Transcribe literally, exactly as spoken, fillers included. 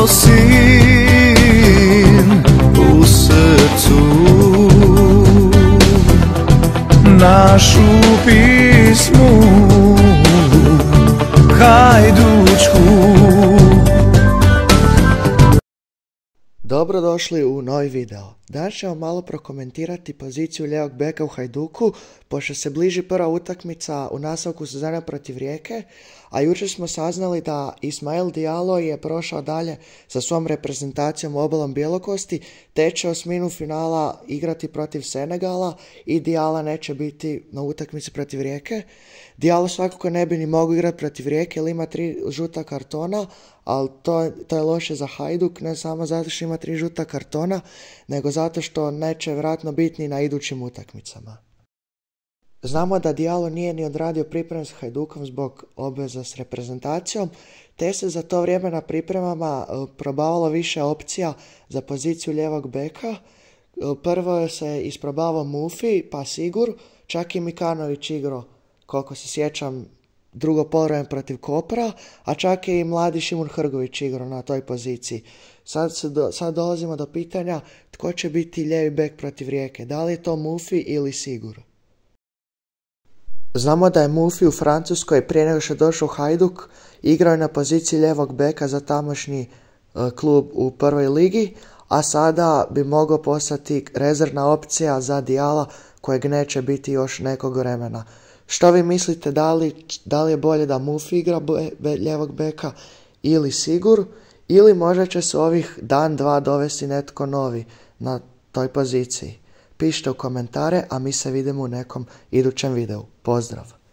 bio sin u srcu, našu pismu hajdučku. Dobrodošli u novi video. Danas ćemo malo prokomentirati poziciju lijevog beka u Hajduku, pošto se bliži prva utakmica u nastavku sezone protiv Rijeke, a jučer smo saznali da Ismail Diallo je prošao dalje sa svom reprezentacijom u obalom Bjelokosti, te će osminu finala igrati protiv Senegala i Dialla neće biti na utakmici protiv Rijeke. Diallo svakako ne bi ni mogao igrati protiv Rijeke jer ima tri žuta kartona, ali to, to je loše za Hajduk, ne samo zato što ima tri žuta kartona, nego zato što neće vjerojatno biti ni na idućim utakmicama. Znamo da Diallo nije ni odradio pripreme s Hajdukom zbog obveza s reprezentacijom, te se za to vrijeme na pripremama probavalo više opcija za poziciju lijevog beka. Prvo se isprobavao Mufi, pa Sigur, čak i Mikanović igrao, koliko se sjećam, drugo poluvreme protiv Kopra, a čak je i mladi Šimun Hrgović igrao na toj poziciji. Sad, se do, sad dolazimo do pitanja tko će biti lijevi bek protiv Rijeke, da li je to Mufi ili Sigur. Znamo da je Mufi u Francuskoj prije nego što je došao u Hajduk igrao je na poziciji lijevog beka za tamošnji uh, klub u prvoj ligi, a sada bi mogao postati rezervna opcija za Dialla kojeg neće biti još nekog vremena. Što vi mislite, da li, da li je bolje da Mufi igra be, be, lijevog beka ili Sigur, ili možda će se ovih dan, dva dovesti netko novi na toj poziciji? Pišite u komentare, a mi se vidimo u nekom idućem videu. Pozdrav!